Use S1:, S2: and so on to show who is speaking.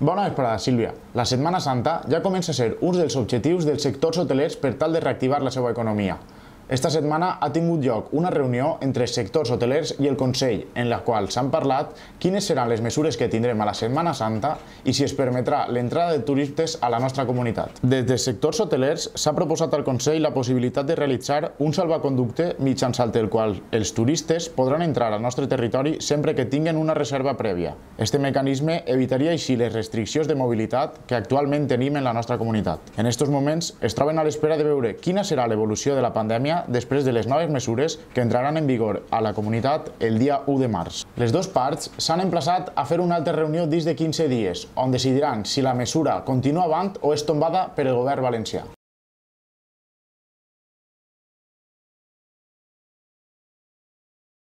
S1: Bona vesprada, Sílvia. La Setmana Santa ja comença a ser un dels objectius dels sectors hotelers per tal de reactivar la seva economia. Esta setmana ha tingut lloc una reunió entre els sectors hotelers i el Consell, en la qual s'han parlat quines seran les mesures que tindrem a la Setmana Santa i si es permetrà l'entrada de turistes a la nostra comunitat. Des dels sectors hotelers s'ha proposat al Consell la possibilitat de realitzar un salvaconducte mitjançant el qual els turistes podran entrar al nostre territori sempre que tinguen una reserva prèvia. Este mecanisme evitaria així les restriccions de mobilitat que actualment tenim en la nostra comunitat. En aquests moments es troben a l'espera de veure quina serà l'evolució de la pandèmia després de les noves mesures que entraran en vigor a la comunitat el dia 1 de març. Les dues parts s'han emplaçat a fer una altra reunió dins de 15 dies, on decidiran si la mesura continua avant o és tombada per el govern valencià.